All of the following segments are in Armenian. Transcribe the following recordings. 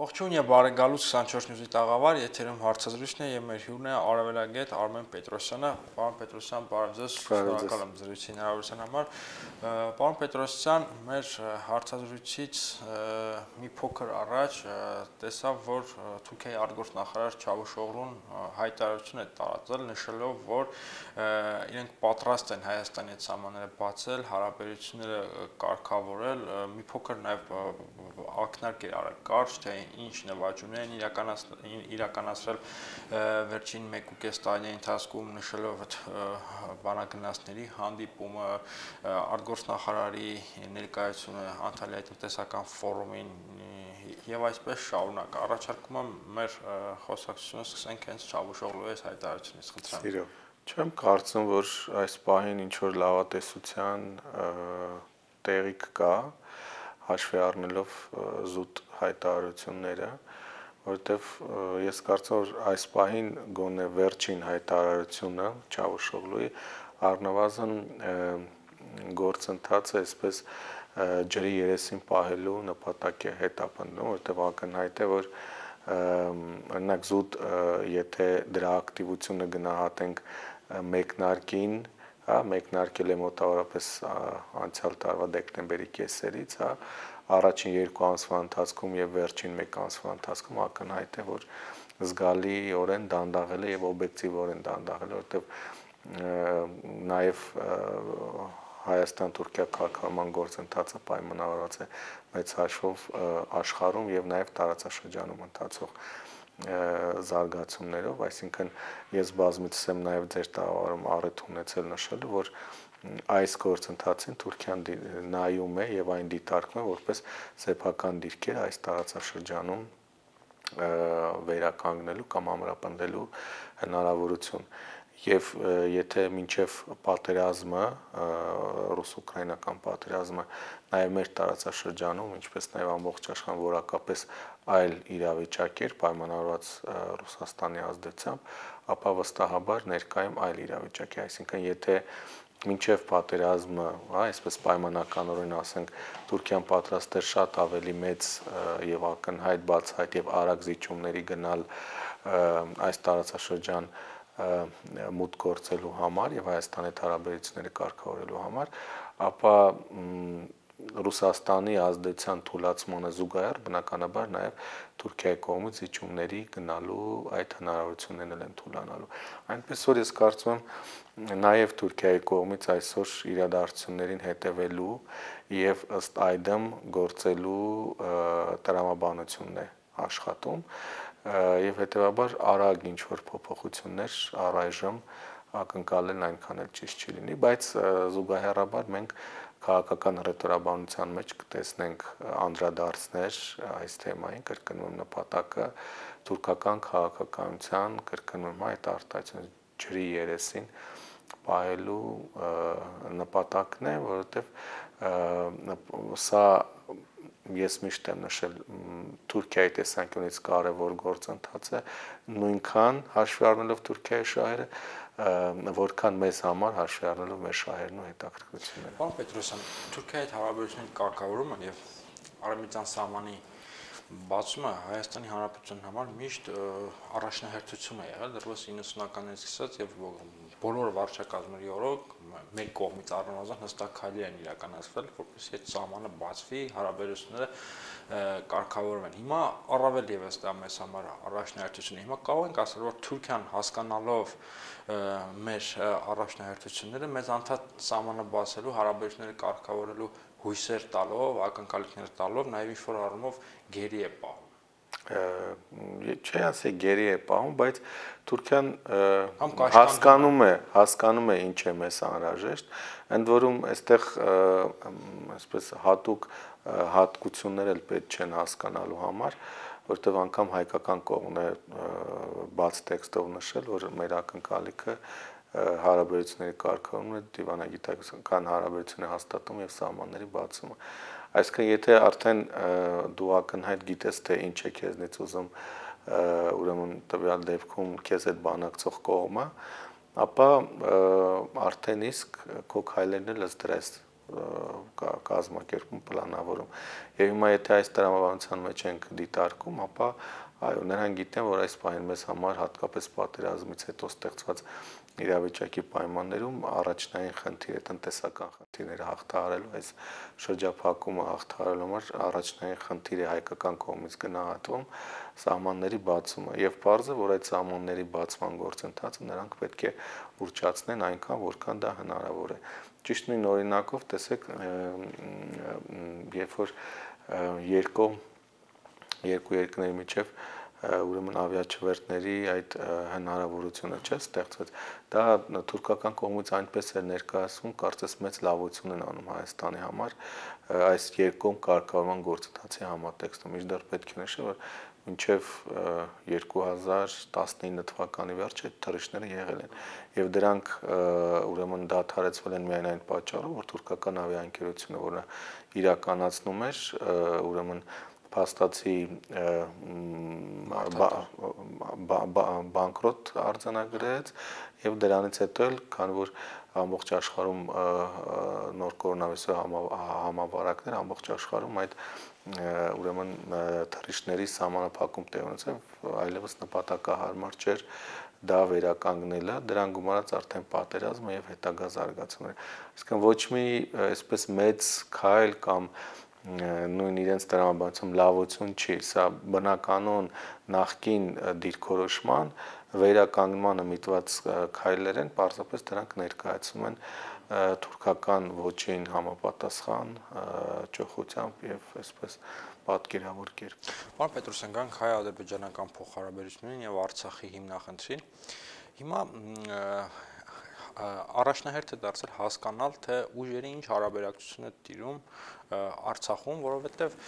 Ողջույն եւ բարեկալուց 24 նյութի տաղավար, եթերում հարցազրույցն է եւ մեր հյուրն է Արևելագետ Արմեն Պետրոսյանը։ Պարոն Պետրոսյան, բարև ձեզ, շնորհակալ եմ զրույցի հնարավորության համար։ Պարոն Պետրոսյան, մեր հարցազրույցից մի փոքր առաջ տեսավ, որ Թուրքիայի արտգործնախարար Չավուշօղլուն հայտարարություն է տարածել, նշելով, որ իրենք պատրաստ են Հայաստանի հետ սահմանները բացել, հարաբերությունները կարգավորել, մի փոքր նաեւ ակնարկ էր արել կարճ, թե ինչ նվաճումներ են իրականացրել վերջին 1.5 տարի ընթացքում, նշելով այդ բանագնացների հանդիպումը, արտգործնախարարի ներկայությունը Անտալիայի տնտեսական ֆորումին եւ այսպես շարունակ։ Առաջարկում եմ մեր խոսակցությունը սկսենք հենց Չավուշօղլուի հայտարարությունից, խնդրեմ։ Չեմ կարծում, որ այս պահին ինչ որ լավատեսության տեղիք կա, հաշվի առնելով զուտ հայտարարությունները, որովհետև ես կարծում եմ, որ այս պահին գոնե վերջին հայտարարությունը Չավուշօղլուի առնվազն գործընթացը այսպես ջրի երեսին պահելու նպատակ է հետապնդում, որովհետև ակնհայտ է, որ օրինակ զուտ եթե դրա ակտիվությունը գնահատենք մեկնարկին, մեկնարկել է մոտավորապես անցյալ տարվա դեկտեմբերի կեսերից, առաջին 2 ամսվա ընթացքում եւ վերջին 1 ամսվա ընթացքում ակնհայտ է, որ զգալիորեն դանդաղել է եւ օբյեկտիվորեն դանդաղել է, որովհետեւ նաեւ Հայաստան-Թուրքիա քաղաքական գործընթացը պայմանավորված է մեծ հաշվով աշխարհում եւ նաեւ տարածաշրջանում ընթացող զարգացումներով, այսինքն ես բազմիցս եմ նաև ձեր տաղավարում առիթ ունեցել նշելու, որ այս գործընթացին Թուրքիան նայում է եւ այն դիտարկում է որպես սեփական դիրքեր այս տարածաշրջանում վերականգնելու կամ ամրապնդելու հնարավորություն։ Եվ եթե մինչև պատերազմը, ռուս-ուկրաինական պատերազմը նաև մեր տարածաշրջանում, ինչպես նաև ամբողջ աշխարհում որակապես այլ իրավիճակ էր պայմանավորված Ռուսաստանի ազդեցությամբ, ապա վստահաբար ներկայում այլ իրավիճակ է, այսինքն եթե մինչև պատերազմը, այսպես պայմանականորեն ասենք, Թուրքիան պատրաստ էր շատ ավելի մեծ եւ ակնհայտ բացահայտ եւ արագ զիջումների գնալ այս տարածաշրջան մուտք գործելու համար եւ Հայաստանի հետ հարաբերությունները կարգավորելու համար, ապա Ռուսաստանի ազդեցության թուլացմանը զուգահեռ բնականաբար նաև Թուրքիայի կողմից զիջումների գնալու այդ հնարավորություններն են թուլանալու։ Այնպես որ ես կարծում եմ նաև Թուրքիայի կողմից այսօր իրադարձություններին հետևելու եւ ըստ այդմ գործելու տրամաբանությունն է աշխատում եւ հետեւաբար արագ ինչ որ փոփոխություններ առայժմ ակնկալելն այնքան էլ ճիշտ չի լինի, բայց զուգահեռաբար մենք քաղաքական ռետորաբանության մեջ կտեսնենք անդրադարձներ այս թեմային, կրկնվում նպատակը թուրքական քաղաքականության, կրկնվում այդ արտահայտությունը ջրի երեսին պահելու նպատակն է, որովհետև սա ես միշտ եմ նշել Թուրքիայի տեսանկյունից կարևոր գործընթաց է, նույնքան հաշվի առնելով Թուրքիայի շահերը, որքան մեզ համար հաշվի առնելով մեր շահերն ու հետաքրքրությունները։ Պարոն Պետրոսյան, Թուրքիայի հետ հարաբերությունների կարգավորումը եւ արևմտյան սահմանի բացումը Հայաստանի Հանրապետության համար միշտ առաջնահերթություն է եղել դեռևս 90-ականներից սկսած եւ բոլոր վարչակազմերի օրոք մեր կողմից առնվազն հստակ քայլեր են իրականացվել, որպեսզի այդ սահմանը բացվի, հարաբերությունները կարգավորվեն։ Հիմա առավել եւս դա մեզ համար առաջնահերթություն է։ Հիմա կարող ենք ասել, որ Թուրքիան հասկանալով մեր առաջնահերթությունները մեզ անդադ սահմանը բացելու, հարաբերությունները կարգավորելու հույսեր տալով, ակնկալիքներ տալով, նաև ինչ-որ առումով գերի է պահում։ Չի ասի գերի է պահում, բայց Թուրքիան հասկանում է ինչ է մեզ անհրաժեշտ, ընդ որում այստեղ այսպես հատուկ հատկություններ էլ պետք չեն հասկանալու համար, որտեղ անգամ հայկական կողմն է բաց տեքստով նշել, որ մեր ակնկալիքը հարաբերությունների կարգավորումն է, դիվանագիտական հարաբերությունների հաստատումը եւ սահմանների բացումը։ Այսինքն եթե արդեն դու ակնհայտ գիտես թե ինչ է քեզնից ուզում ուրեմն տվյալ դեպքում քեզ այդ բանակցող կողմը, ապա արդեն իսկ քո քայլերն էլ ըստ դրես կազմակերպում, պլանավորում։ Եվ հիմա եթե այս տրամաբանության մեջ ենք դիտարկում, ապա այո, նրանք գիտեն, որ այս պահին մեզ համար հատկապես պատերազմից հետո ստեղծված իրավիճակի պայմաններում առաջնային խնդիրը տնտեսական խնդիրները հաղթահարելու, այս շրջափակումը հաղթահարելու համար առաջնային խնդիրը հայկական կողմից գնահատվում սահմանների բացումը եւ պարզ է, որ այդ սահմանների բացման գործընթացը նրանք պետք է ուռճացնեն այնքան, որքան դա հնարավոր է։ Ճիշտ նույն օրինակով տեսեք, երբ որ երկու երկրների միջև ուրեմն ավիաչվերթների այդ հնարավորությունը չէ ստեղծված, դա թուրքական կողմից այնպես է ներկայացվում, կարծես մեծ լավություն են անում Հայաստանի համար այս երկկողմ կարգավորման գործընթացի համատեքստում։ Մինչդեռ պետք է նշել, որ մինչև 2019 թվականի վերջ այդ թռիչքները եղել են եւ դրանք ուրեմն դադարեցվել են միայն այն պատճառով, որ թուրքական ավիաընկերությունը, որը իրականացնում էր ուրեմն փաստացի բանկրոտ արձանագրեց եւ դրանից հետո էլ քանի որ ամբողջ աշխարհում նոր կորոնավիրուսի համավարակներ ամբողջ աշխարհում այդ ուրեմն թռիչքների սահմանափակում տեղ ունեցավ, այլևս նպատակահարմար չէր դա վերականգնելը, դրան գումարած արդեն պատերազմը եւ հետագա զարգացումները։ Այսինքն ոչ մի այսպես մեծ քայլ կամ նույն իրենց տրամաբանությամբ լավություն չի, սա բնականon նախկին դիրքորոշման վերականգնմանը միտված քայլեր են, պարզապես դրանք ներկայացում են թուրքական ոչին համապատասխան ճոխությամբ եւ այսպես պատկերավոր կերպ։ Պարոն Պետրոսյան, գանք հայ-ադրբեջանական փոխհարաբերություններին եւ Արցախի հիմնախնդրին։ Հիմա առաջնահերթ է դարձել հասկանալ, թե ուժերի ինչ հարաբերակցություն է տիրում Արցախում, որովհետեւ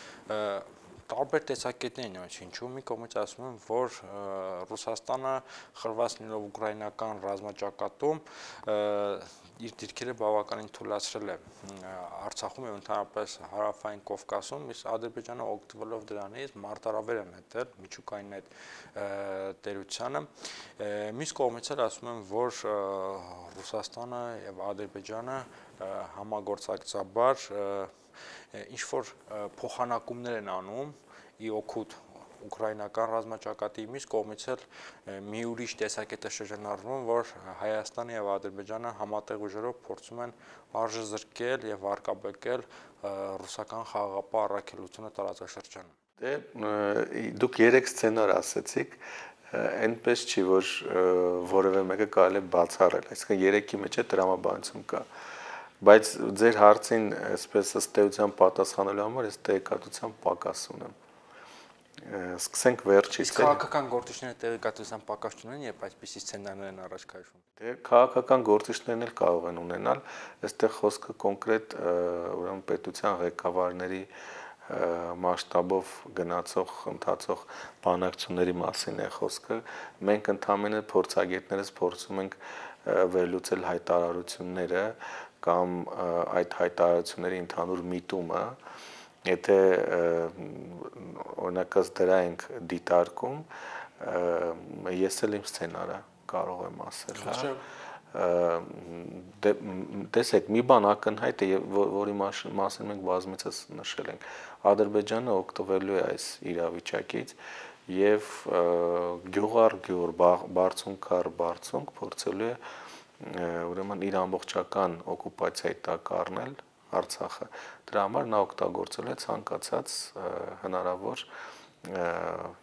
տարբեր տեսակետներ են ինչու մի կողմից ասում են, որ Ռուսաստանը խրված լինելով ուկրաինական ռազմաճակատում իր դիրքերը բավականին թուլացրել է Արցախում եւ ընդհանրապես հարավային Կովկասում, իսկ Ադրբեջանը օգտվելով դրանից մարտահրավեր է նետել միջուկային այդ տերությանը։ Մյուս կողմից էլ ասում են, որ Ռուսաստանը եւ Ադրբեջանը համագործակցաբար ինչ որ փոխանակումներ են անում ի օգուտ ուկրաինական ռազմաճակատի, մյուս կողմից էլ մի ուրիշ տեսակետ է շրջանառվում, որ Հայաստանը եւ Ադրբեջանը համատեղ ուժերով փորձում են արժեզրկել եւ արկաբեկել ռուսական խաղաղապահ առաքելությունը տարածաշրջանում։ Դե դուք 3 սցենար ասացիք, այնպես չի, որ որևէ մեկը կարելի է բացառել, այսինքն 3-ի մեջ է տրամաբանություն կա, բայց ձեր հարցին այսպես ըստ էության պատասխանելու համար ես տեղեկատվության պակաս ունեմ։ Սկսենք վերջից։ Քաղաքական գործիչները տեղեկատվության պակաս չունեն, երբ այսպիսի սցենարներ են առաջ քաշվում։ Դե քաղաքական գործիչներն էլ կարող են ունենալ, այստեղ խոսքը կոնկրետ ուրեմն պետության ղեկավարների մասշտաբով գնացող ընթացող բանակցությունների մասին է խոսքը։ Մենք ընդհանրապես փորձագետներս փորձում ենք վերլուծել հայտարարությունները կամ այդ հայտարարությունների ընդհանուր միտումը, եթե օրինակած դրա ենք դիտարկում, ես էլ իմ սցենարը կարող եմ ասել, տեսեք, մի բան ակնհայտ է, որի մասին մենք բազմիցս նշել ենք, Ադրբեջանը օգտվելու է այս իրավիճակից եւ գյուղար բարձունք փորձելու է ուրեմն իր ամբողջական օկուպացիայի տակ առնել Արցախը։ Դրա համար նա օգտագործել է ցանկացած հնարավոր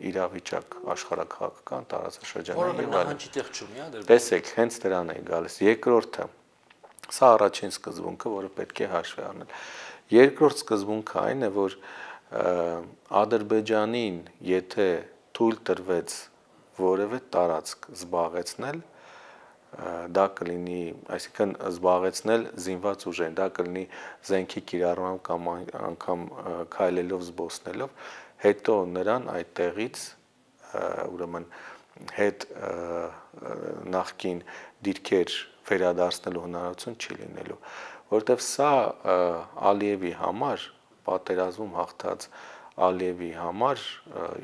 իրավիճակ աշխարհակաղակական տարածաշրջանում եւ այլն։ Տեսեք, հենց դրան է գալիս։ Երկրորդը, սա առաջին սկզբունքը, որը պետք է հաշվի առնել։ Երկրորդ սկզբունքը այն է, որ Ադրբեջանին, եթե թույլ տրվեց որևէ տարածք զբաղեցնել, դա կլինի, այսինքն զբաղեցնել զինված ուժերին, դա կլինի զենքի կիրառմամբ կամ անգամ քայլելով զբոսնելով, հետո նրան այդ տեղից ուրեմն հետ նախկին դիրքեր վերադարձնելու հնարավորություն չի լինելու, որովհետև սա Ալիևի համար, պատերազմում հաղթած Ալիևի համար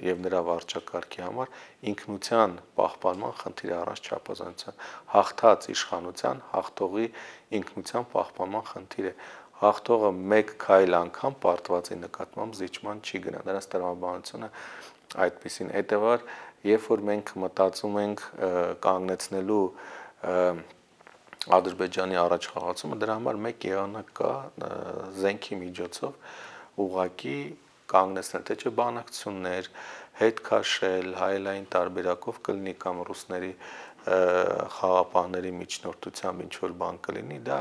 եւ նրա վարչակարգի համար ինքնության պահպանման խնդիր առանց չափազանցության, հաղթած իշխանության հաղթողի ինքնության պահպանման խնդիր է։ հաղթողը մեկ քայլ անգամ պարտվածի նկատմամբ զիջման չի գնա։ Դրանց տրամաբանությունը այդպեսին հետևար, երբ որ մենք մտածում ենք կանգնեցնելու Ադրբեջանի առաջխաղացումը, դրա համար մեկ եղանակ կա զենքի միջոցով ուղղակի կանգնեցնել, թե չէ բանակցություններ, հետ քաշել, հայելային տարբերակով կլինի կամ ռուսների խաղապահների միջնորդությամբ ինչ որ բան կլինի, դա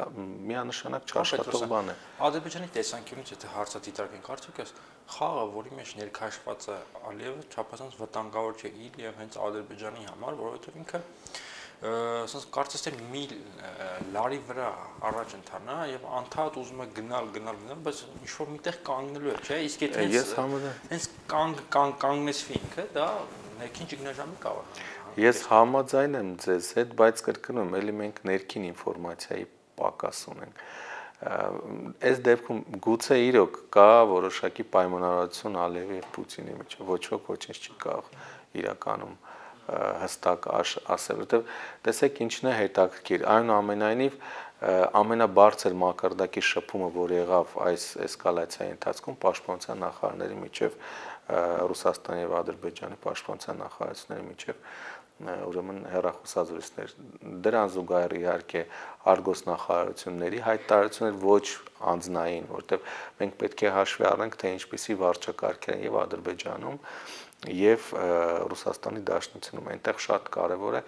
միանշանակ չաշխատող բան է։ Ադրբեջանի տեսանկյունից եթե հարցը դիտարկենք, արդյոք այս խաղը, որի մեջ ներքաշված է Ալիևը, չափազանց վտանգավոր չէ իր եւ հենց Ադրբեջանի համար, որովհետեւ ինքը ասես կարծես թե մի լարի վրա առաջ ընթանա եւ անդադ ուզում է գնալ, բայց ինչ որ միտեղ կանգնելու է, չէ՞, իսկ եթե հենց կանգնեցվի ինքը, դա ներքին ճգնաժամի կարող է։ Ես համաձայն եմ ձեզ հետ, բայց կրկնում եմ, ելի մենք ներքին ինֆորմացիայի պակաս ունենք։ Այս դեպքում գուցե իրոք կա որոշակի պայմանավորություն Ալիևի եւ Պուտինի միջեւ, ոչ ոք ոչինչ չի կարող իրականում հստակ ասել, որովհետև տեսեք ինչն է հետաքրքիր, այնուամենայնիվ ամենաբարձր մակարդակի շփումը, որ եղավ այս էսկալացիայի ընթացքում պաշտպանության նախարարների միջև Ռուսաստանի եւ Ադրբեջանի պաշտպանության նախարարությունների միջև ուրեմն հեռախոսազրույցներ, դրան զուգահեռ իհարկե արգոս նախարարությունների հայտարարություններ ոչ անձնային, որտեղ մենք պետք է հաշվի առնենք, թե ինչպիսի վարչակարգեր են եւ Ադրբեջանում եւ Ռուսաստանի Դաշնությունում, այնտեղ շատ կարեւոր է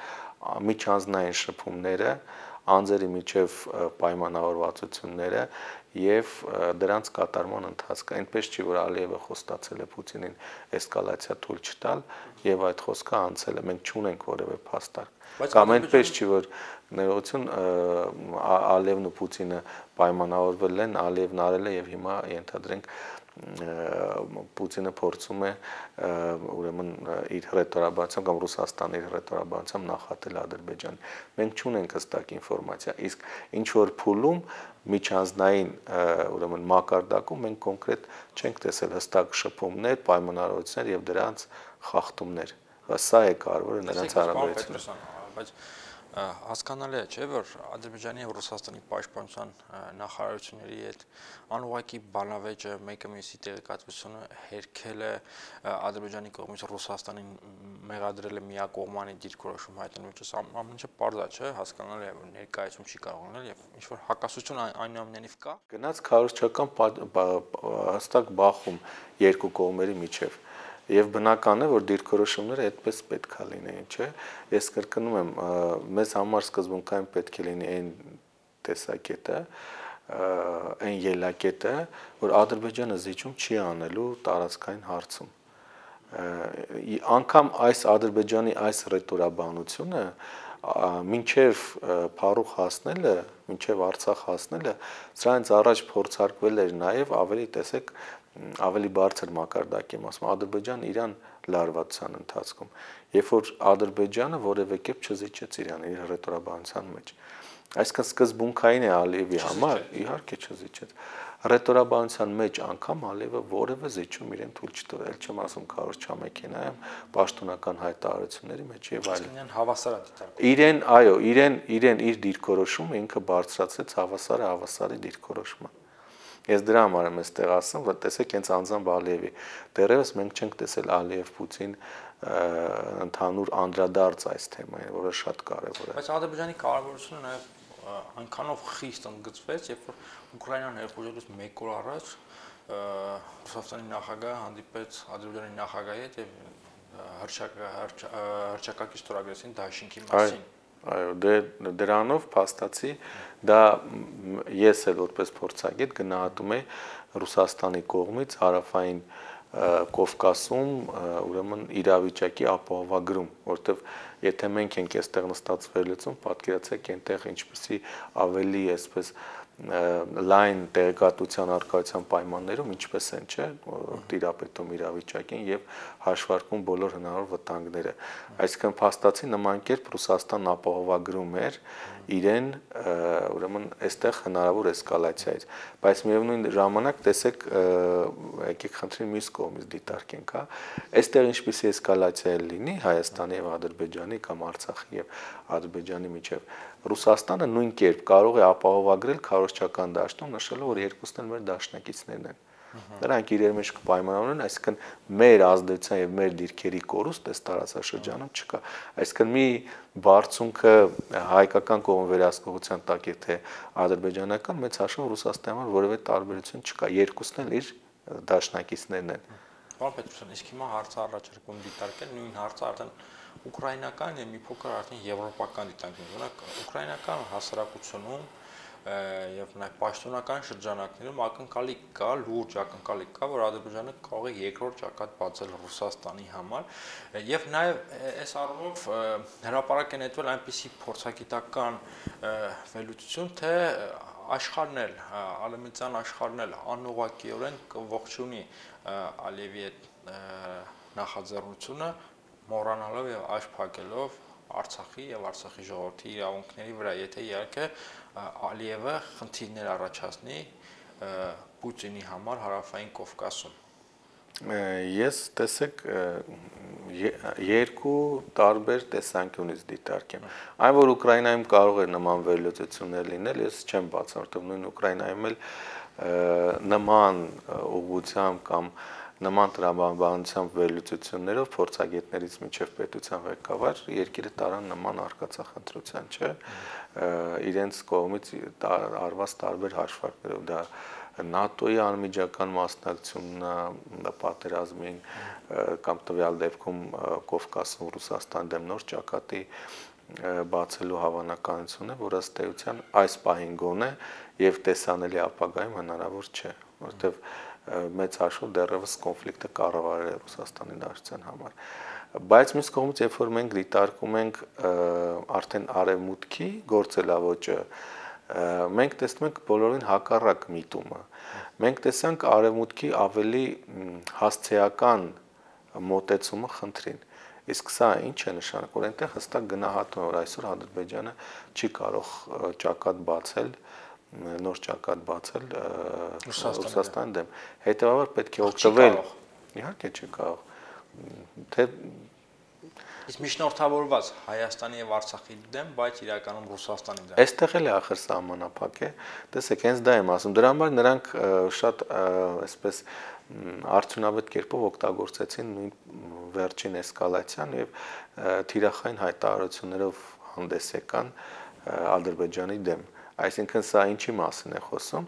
միջանձնային շփումները, անձերի միջև պայմանավորվածությունները եւ դրանց կատարման ընթացքը, այնպես չի որ Ալիևը խոստացել է Պուտինին էսկալացիա թույլ չտալ եւ այդ խոսքը անցել է, մենք չունենք որևէ փաստարկ։ Կամ այնպես չի որ ներողություն Ալիևն ու Պուտինը պայմանավորվել են, Ալիևն արել է եւ հիմա ենթադրենք Պուտինը փորձում է ուրեմն իր հռետորաբանությամբ կամ Ռուսաստանի իր հռետորաբանությամբ նախատել Ադրբեջան։ Մենք չունենք հստակ ինֆորմացիա, իսկ ինչ որ փուլում միջանձնային ուրեմն մակարդակում մենք կոնկրետ չենք տեսել հստակ շփումներ, պայմանավորվածություններ եւ դրանց խախտումներ։ Սա է կարևորը նրանց հարաբերությունները։ Բայց հասկանալի է, չէ՞, որ Ադրբեջանի եւ Ռուսաստանի պաշտպանության նախարարությունների հետ անուղակի բանավեճը մեկը մյուսի տեղեկատվությունը հերքել է Ադրբեջանի կողմից Ռուսաստանին մեղադրել է միակողմանի դիրքորոշում հայտնելու учраас ամեն ինչը պարզ է, չէ՞, հասկանալի է, որ ներկայացում չի կարող լինել եւ ինչ որ հակասություն այնուամենայնիվ կա։ Գնաց քարոզչական հստակ բախում երկու կողմերի միջև Եվ բնական է, որ դիրքորոշումները այդպես պետք է լինեին, չէ՞։ Ես կրկնում եմ, մեզ համար սկզբունքային պետք է լինի այն տեսակետը, այն ելակետը, որ Ադրբեջանը զիջում չի անելու տարածքային հարցում։ Անկամ այս Ադրբեջանի այս ռետորաբանությունը մինչև Փարուխ հասնելը, մինչև Արցախ հասնելը, սրանից առաջ փորձարկվել էր նաև ավելի տեսեք ավելի բարձր մակարդակի մասում Ադրբեջան Իրան լարվածության ընթացքում, երբ որ Ադրբեջանը որևէ կերպ չզիջեց Իրան իր ռետորաբանության մեջ։ Այսինքն սկզբունքային է Ալիևի համար, իհարկե չզիջեց։ Ռետորաբանության մեջ անգամ Ալիևը որևէ զիջում իրեն թույլ չտվել, չեմ ասում քարոզչամեքենայում, պաշտոնական հայտարարությունների մեջ եւ այլն։ Այսինքն հավասար է դիտարկում։ Իրեն, այո, իրեն իր դիրքորոշումը ինքը բարձրացրեց հավասարի դիրքորոշման։ Ես դրա համար եմ այստեղ ասում, որ տեսեք հենց անձամբ Ալիևի դեռևս մենք չենք տեսել Ալիև-Պուտին ընդհանուր անդրադարձ այս թեմային, որը շատ կարևոր է։ Բայց Ադրբեջանի կարևորությունը նաև այնքանով խիստ ընդգծվեց, երբ որ Ուկրաինան ներխուժելուց 1 օր առաջ Ռուսաստանի նախագահը հանդիպեց Ադրբեջանի նախագահի հետ եւ հռչակագիր ստորագրեցին դաշինքի մասին։ Այո, դրանով փաստացի դա ես էլ որպես փորձագետ գնահատում եմ Ռուսաստանի կողմից հարավային Կովկասում ուրեմն իրավիճակի ապահովագրում, որտեվ եթե մենք ենք այստեղ նստած վերլուծում, պատկերացրեք այնտեղ ինչպեսի ավելի այսպես լայն տեղեկատվության արկայության պայմաններում ինչպես են, չէ, տիրապետում իրավիճակին եւ հաշվարկում բոլոր հնարավոր վտանգները։ Այսինքն փաստացի նման կերպ Ռուսաստանն ապահովագրում էր իրեն ուրեմն այստեղ հնարավոր էսկալացիայից, բայց միևնույն ժամանակ տեսեք եկեք խնդրի մյուս կողմից դիտարկենք, հա, այստեղ ինչպիսի էսկալացիա լինի Հայաստանի եւ Ադրբեջանի կամ Արցախի եւ Ադրբեջանի միջեւ, Ռուսաստանը նույն կերպ կարող է ապահովագրել քարոզչական դաշտում, նշելով, որ երկուսն էլ մեր դաշնակիցներն են։ Նրանք իրար մեջ կպայմանավորեն, այսինքն մեր ազդեցության եւ մեր դիրքերի կորուստ այս տարածաշրջանում չկա։ Այսինքն մի բարձունքը հայկական կողմի վերահսկողության տակ է, թե ադրբեջանական, մեծ հաշվով Ռուսաստանի համար որևէ տարբերություն չկա։ Երկուսն էլ իր դաշնակիցներն են։ Պարոն Պետրոսյան, իսկ հիմա հարցը առաջարկում դիտարկել նույն հարցը արդեն ուկրաինական եւ մի փոքր արդեն եվրոպական դիտարկում։ Օրինակ ուկրաինական հասարակությունում եւ նաեւ պաշտոնական շրջանակներում ակնկալի կա, լուրջ ակնկալի կա, որ Ադրբեջանը կարող է երկրորդ ճակատ բացել Ռուսաստանի համար եւ նաեւ այս առումով հրապարակ է նետվել այնպիսի փորձագիտական վերլուծություն, թե աշխարհն էլ, արևմտյան աշխարհն էլ անուղղակիորեն ողջունի Ալիևի այդ նախաձեռնությունը, մոռանալով եւ աչք փակելով Արցախի եւ Արցախի ժողովրդի իրավունքների վրա, եթե իհարկե Ալիևը խնդիրներ առաջացնի Պուտինի համար հարավային Կովկասում։ Ես տեսեք երկու տարբեր տեսանկյունից դիտարկեմ։ Այն որ Ուկրաինայում կարող է նման վերլուծություններ լինել, ես չեմ բացառում, որտեղ նույն Ուկրաինայում էլ նման ուղղությամբ կամ նման տրամաբանությամբ վերլուծություններով փորձագետներից միջև պետության ղեկավար երկիրը տարան նման արկածախնդրության, չէ, իրենց կողմից արված տարբեր հաշվարկներով, դա ՆԱՏՕ-ի անմիջական մասնակցությունն է պատերազմին կամ տվյալ դեպքում Կովկասում Ռուսաստանի դեմ նոր ճակատի բացելու հավանականությունը, որ ըստ էության այս պահին գոնե եւ տեսանելի ապագայում հնարավոր չէ, որովհետեւ մեծ հաշվով դեռևս կոնֆլիկտը կառավարել է Ռուսաստանի դաշնության համար։ Բայց մյուս կողմից, երբ որ մենք դիտարկում ենք արդեն արևմուտքի գործելավոճը, մենք տեսնում ենք բոլորին հակառակ միտումը։ Մենք տեսանք արևմուտքի ավելի հասցեական մոտեցումը խնդրին։ Իսկ սա ինչ է նշանակում, որ այնտեղ հստակ գնահատում է, որ այսօր Ադրբեջանը չի կարող ճակատ բացել, նոր ճակատ բացել Ռուսաստանի դեմ։ Հետևաբար պետք է օգտվել։ Իհարկե չի կարող։ Թե իսկ միջնորդավորված Հայաստանի եւ Արցախի դեմ, բայց իրականում Ռուսաստանի դեմ։ Այստեղ էլ է ախր սահմանափակ է։ Տեսեք, հենց դա եմ ասում։ Դրա համար նրանք շատ այսպես արդյունավետ կերպով օգտագործեցին նույն վերջին էսկալացիան եւ թիրախային հայտարարություններով հանդես եկան Ադրբեջանի դեմ։ Այսինքն սա ինչի մասին է խոսում,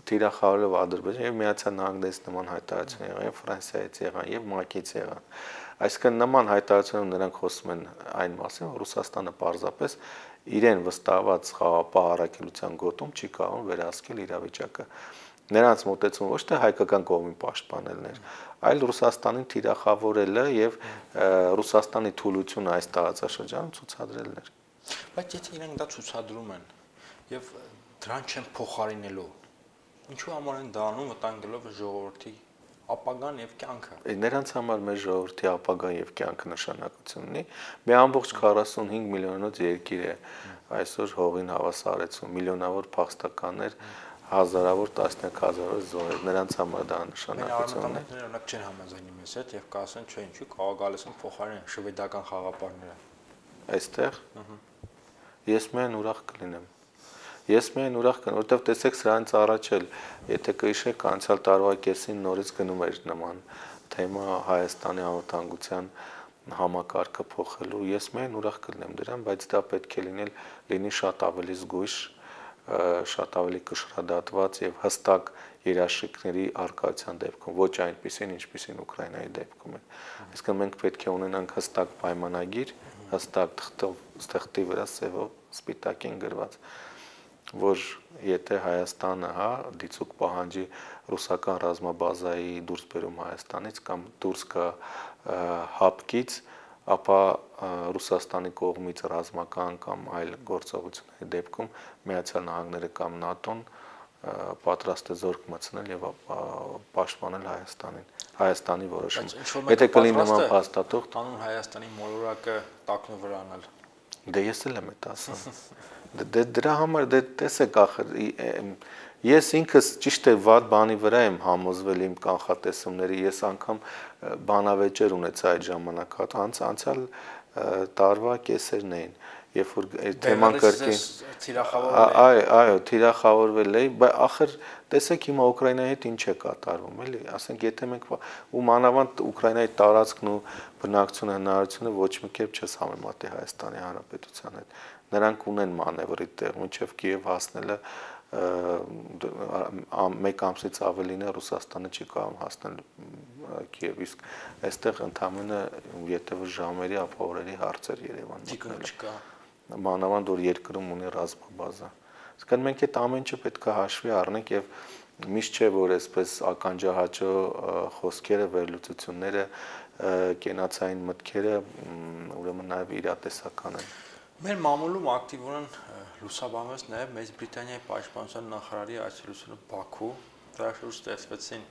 թիրախավորելով Ադրբեջանը եւ Միացյալ Նահանգներից նման հայտարարություն եղան, եւ Ֆրանսիայից եղան, եւ ՄԱԿ-ից եղան։ Այսինքն նման հայտարարություններում նրանք խոսում են այն մասին, որ Ռուսաստանը պարզապես իրեն վստահված խաղապահ առաքելության գոտում չի կարող վերահսկել իրավիճակը։ Նրանց մոտեցումը ոչ թե հայկական կողմի պաշտպանելն էր, այլ Ռուսաստանին թիրախավորելը եւ Ռուսաստանի թուլությունը այս տարածաշրջանում ցուցադրելն էր։ Բայց եթե իրենք դա ցուցադրում են եւ դրան չեն փոխարինելու, ինչու համար են դա անում, վտանգելով ժողովրդի ապագան եւ կյանքը։ Նրանց համար մեր ժողովրդի ապագան եւ կյանքը նշանակություն ունի։ Մի ամբողջ 45 միլիոնոց երկիր է այսօր հողին հավասարեցում, միլիոնավոր փախստականներ, հազարավոր տասնյակ հազարավոր զոհեր, նրանց համար դա նշանակություն ունի։ Մենք օրինակ չեն համաձայնի մեզ հետ եւ կասեն, չէ, ինչու կարող գալիս են փոխարինեն շվեդական խաղապարները։ Այստեղ ես միայն ուրախ կլինեմ։ Ես միայն ուրախ կլինեմ, որովհետեւ տեսեք սրանից առաջ էլ, եթե կհիշեք, անցյալ տարվա կեսին նորից գնում էր նման թեմա Հայաստանի անվտանգության համակարգը փոխելու, ես միայն ուրախ կլինեմ դրան, բայց դա պետք է լինի շատ ավելի զգույշ, շատ ավելի կշռադատված եւ հստակ երաշխիքների արկայության դեպքում, ոչ այնպիսին, ինչպիսին Ուկրաինայի դեպքում է։ Այսինքն մենք պետք է ունենանք հստակ պայմանագիր, հստակ թղթի վրա սևով սպիտակին գրված, որ եթե Հայաստանը, դիցուկ պահանջի ռուսական ռազմաբազայի դուրս բերում Հայաստանից կամ դուրս գա հապկից, ապա Ռուսաստանի կողմից ռազմական կամ այլ գործողությունների դեպքում Միացյալ Նահանգները կամ ՆԱՏՕ-ն պատրաստ է զորք մտցնել եւ պաշտպանել Հայաստանի որոշումը։ Եթե կլինի նման փաստաթուղթ, տանուն Հայաստանի մոլորակը տակնու վրա անել։ Դե ես էլ եմ այդ ասում։ Դրա համար դե տեսեք ախր ես ինքս ճիշտ է վատ բանի վրա եմ համոզվել իմ կանխատեսումների, ես անգամ բանավեճեր ունեցա այդ ժամանակ, անցյալ տարվա կեսերն էին, երբ որ թեման կրկին այո, թիրախավորվել էի, բայց ախր տեսեք հիմա Ուկրաինայի հետ ինչ է կատարվում, էլի, ասենք եթե մենք ու մանավանդ Ուկրաինայի տարածքն ու բնակչության հնարավորությունը ոչ մի կերպ չես համեմատի Հայաստանի Հանրապետության հետ։ Նրանք ունեն մանևրի տեղ, մինչև Կիև հասնելը մեկ ամսից ավելին է Ռուսաստանը չի կարող հասնել Կիև, իսկ այստեղ ընդամենը եթե ժամերի ապօրերի հարցեր Երևանում մանավանդ որ երկրում ունի ռազմաբազա։ Իսկ մենք այդ ամեն ինչը պետք է հաշվի առնենք եւ միշտ չէ որ այսպես ականջահաճո խոսքերը, վերլուծությունները, կենացային մտքերը ուրեմն նաեւ իրատեսական են։ Մեր մամուլում ակտիվորեն լուսաբանվեց նաև Մեծ Բրիտանիայի պաշտպանության նախարարի այցելությունը Բաքու, դրա շուրջ ստեղծվեցին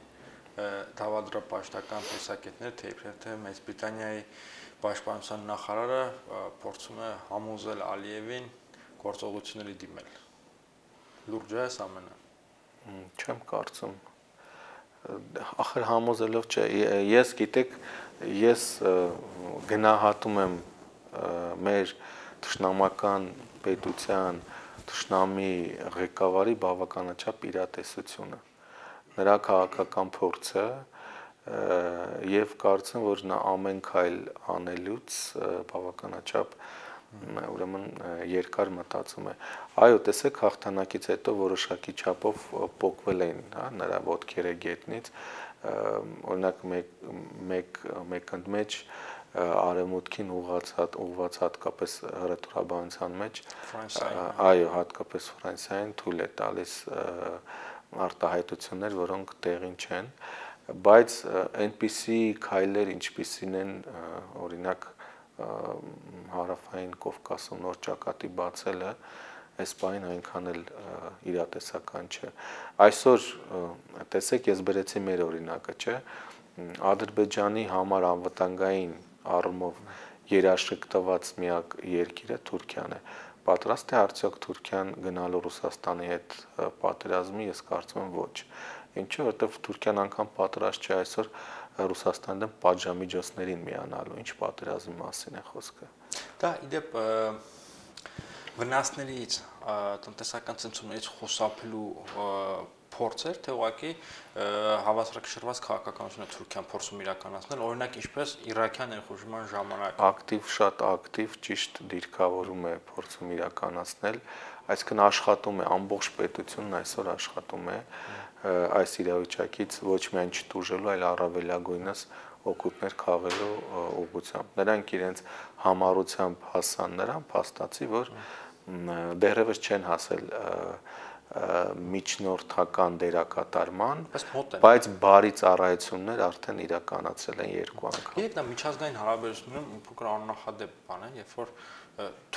դավադրապաշտական տեսակետներ, թե Մեծ Բրիտանիայի պաշտպանության նախարարը փորձում է համոզել Ալիևին գործողությունների դիմել։ Լուրջ է այս ամենը։ Չեմ կարծում։ Ախր համոզելով չէ, ես գիտեք, ես գնահատում եմ մեր թշնամական պետության թշնամի ղեկավարի բավականաչափ իրատեսությունը, նրա քաղաքական փորձը եւ կարծում որ նա ամեն քայլ անելուց բավականաչափ ուրեմն երկար մտածում է։ Այո, տեսեք հաղթանակից հետո որոշակի չափով փոկվել էին, հա, նրա ոտքերը գետնից, օրինակ մեկ ընդմեջ արևմուտքին ուղղված հատկապես հռետորաբանության մեջ, այո, հատկապես Ֆրանսիային թույլ է տալիս արտահայտություններ, որոնք տեղին չեն, բայց այնպիսի քայլեր, ինչպիսին են օրինակ հարավային Կովկասում նոր ճակատի բացելը, այս բանին այնքան էլ իրատեսական չէ։ Այսօր տեսեք, ես բերեցի մեր օրինակը, չէ՞, Ադրբեջանի համար անվտանգային առումով երաշխիքտված միակ երկիրը Թուրքիան է։ Պատրաստ է արդյոք Թուրքիան գնալու Ռուսաստանի հետ պատերազմի, ես կարծում եմ ոչ։ Ինչու, որովհետև Թուրքիան անգամ պատրաստ չէ այսօր Ռուսաստանի դեմ պատժամիջոցներին միանալու, ինչ պատերազմի մասին է խոսքը։ Դա իդեպ վնասներից, տնտեսական ցնցումներից խուսափելու փորձեր, թե ուղղակի հավասարակշռված քաղաքականությունը Թուրքիան փորձում իրականացնել, օրինակ ինչպես Իրաքյան ներխուժման ժամանակ։ Ակտիվ, շատ ակտիվ, ճիշտ դիրքավորում է փորձում իրականացնել, այսինքն աշխատում է ամբողջ պետությունն այսօր աշխատում է այս իրավիճակից ոչ միայն չտուժելու, այլ առավելագույնս օգուտներ քաղելու ուղղությամբ։ Նրանք իրենց համառությամբ հասան նրան, փաստացի, որ դեռևս չեն հասել միջնորդական դերակատարման, բայց բարի ծառայություններ արդեն իրականացել են երկու անգամ։ Երբ նա միջազգային հարաբերություններում մի փոքր աննախադեպ բան է, երբ որ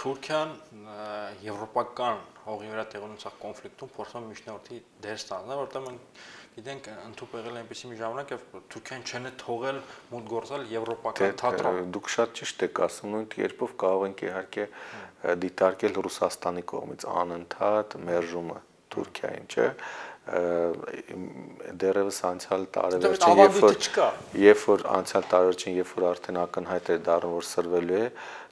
Թուրքիան եվրոպական հողի վրա տեղի ունեցող կոնֆլիկտում փորձում է միջնորդի դեր ստանալ, որտեղ մենք գիտենք ընդհանուր եղել է այնպեսի մի ժամանակ, երբ Թուրքիան չեն է թողել մուտք գործել եվրոպական թատրոն։ Դուք շատ ճիշտ եք ասում, նույն կերպով կարող ենք իհարկե դիտարկել Ռուսաստանի կողմից անընդհատ մերժումը Թուրքիային, չէ՞։ Դեռևս անցյալ տարեվերջին, երբ որ արդեն ակնհայտ էր դառնում, որ սրվելու է,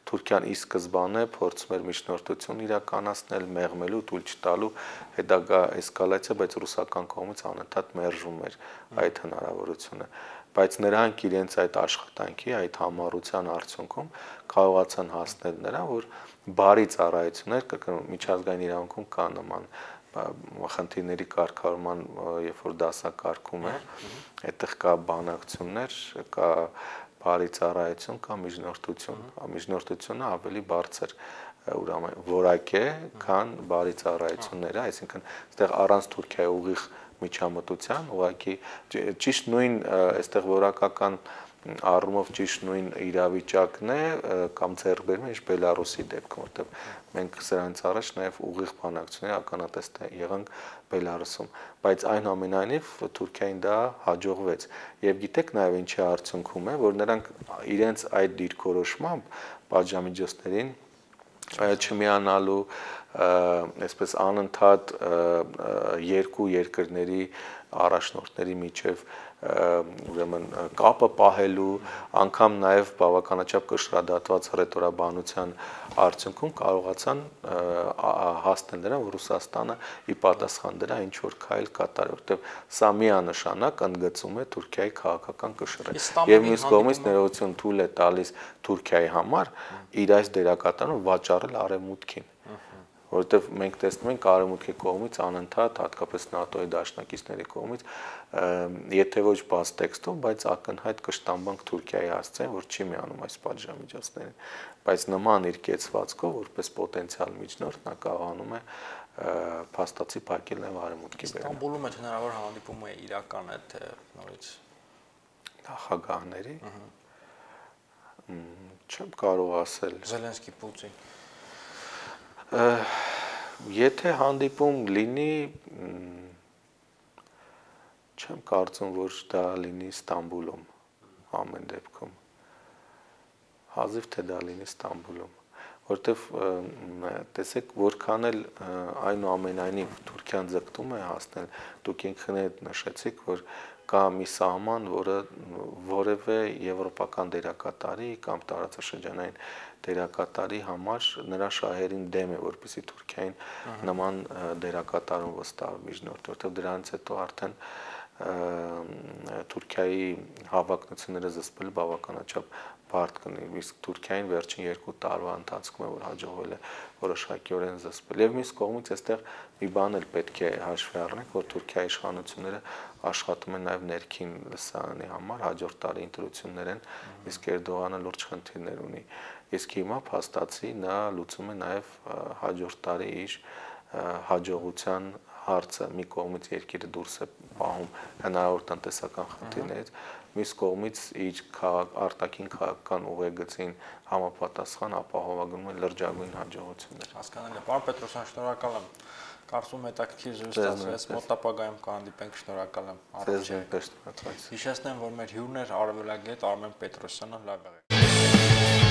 Թուրքիան ի սկզբանե փորձում էր միջնորդություն իրականացնել, մեղմելու, թույլ չտալու հետագա էսկալացիա, բայց ռուսական կողմից անընդհատ մերժվում էր այդ հնարավորությունը։ Բայց նրանք իրենց այդ աշխատանքի, այդ համառության արդյունքում կարողացան հասնել նրան, որ բարի ծառայություններ միջազգային իրավունքում կա նման խնդիրների կարգավորման, երբ որ դասակարգում է, այդտեղ կա բանակցություններ, կա բարի ծառայություն, կա միջնորդություն, միջնորդությունը ավելի բարձր որակ է, քան բարի ծառայությունները, այսինքն այստեղ առանց Թուրքիայի ուղիղ միջամտության, ուղղակի ճիշտ նույն այստեղ որակական առումով ճիշտ նույն իրավիճակն է կամ ձեռքբերում է, ինչ Բելարուսի դեպքում, որտեղ մենք սրանից առաջ նաև ուղիղ բանակցություններ ականատես եղանք Բելարուսում, բայց այնուամենայնիվ Թուրքիային դա հաջողվեց։ Եվ գիտեք նաև ինչի արդյունքում է, որ նրանք իրենց այդ դիրքորոշմամբ պատժամիջոցներին չմիանալու, այսպես անընդհատ երկու երկրների առաջնորդների միջև ուրեմն կապը պահելու, անգամ նաև բավականաչափ կշռադատված հռետորաբանության արդյունքում կարողացան հասնել նրան, որ Ռուսաստանը ի պատասխան դրա ինչ որ քայլ կատարի, որտեղ սա միանշանակ ընդգծում է Թուրքիայի քաղաքական կշռը։ Եվ մյուս կողմից ներողություն թույլ է տալիս Թուրքիայի համար իր այս դերակատարությունը վաճառել Արևմուտքին, որովհետև մենք տեսնում ենք Արևմուտքի կողմից անընդհատ, հատկապես ՆԱՏՕ-ի դաշնակիցների կողմից, եթե ոչ բաց տեքստով, բայց ակնհայտ կշտամբանք Թուրքիայի հասցեն, որ չի միանում այս պատժամիջոցներին, բայց նման իր կեցվածքով, որպես պոտենցիալ միջնորդ, նա կարողանում է փաստացի փակել նաև Արևմուտքի բերանը։ Ստամբուլում այդ հնարավոր հանդիպումը իրական է, թե նորից նախագահների, չեմ կարող ասել։ Զելենսկի, Պուտին։ Եթե հանդիպում լինի, չեմ կարծում, որ դա լինի Ստամբուլում, ամեն դեպքում, հազիվ թե դա լինի Ստամբուլում, որտեվ տեսեք, որքան էլ այնուամենայնիվ Թուրքիան ձգտում է հասնել, դուք ինքներդ նշեցիք, որ կա մի սահման, որը որևէ եվրոպական դերակատարի կամ տարածաշրջանային դերակատարի համար նրա շահերին դեմ է, որպեսզի Թուրքիային նման դերակատարում վստահ միջնորդ, որտեղ դրանից հետո արդեն Թուրքիայի հավակնությունները զսպել բավականաչափ բարդ կնի, իսկ Թուրքիային վերջին 2 տարվա ընթացքում է, որ հաջողվել է որոշակիորեն զսպել։ Եվ մյուս կողմից այստեղ մի բան էլ պետք է հաշվի առնենք, որ Թուրքիայի իշխանությունները աշխատում են նաև ներքին լսարանի համար, հաջորդ տարի ընտրություններ են, իսկ Էրդողանը լուրջ խնդիրներ ունի։ Իսկ հիմա փաստացի նա լուծում է նաև հաջորդ տարի իր հաջողության հարցը, մի կողմից երկիրը դուրս է պահում հնարավոր տնտեսական խնդիրներից, մյուս կողմից իր արտաքին քաղաքական ուղեգծին համապատասխան ապահովագրում է լրջագույն հաջողություններ։ Հասկանալի է։ Պարոն Պետրոսյան, շնորհակալ եմ։ Կարծում եմ հետաքրքիր զրույց ստացվեց, մոտ ապագայում կհանդիպենք, շնորհակալ եմ։ Ձեզ նույնպես շնորհակալ։ Հիշեցնեմ, որ մեր հյուրն էր արևելագետ Արմեն Պետրոսյանը, լավ եղեք։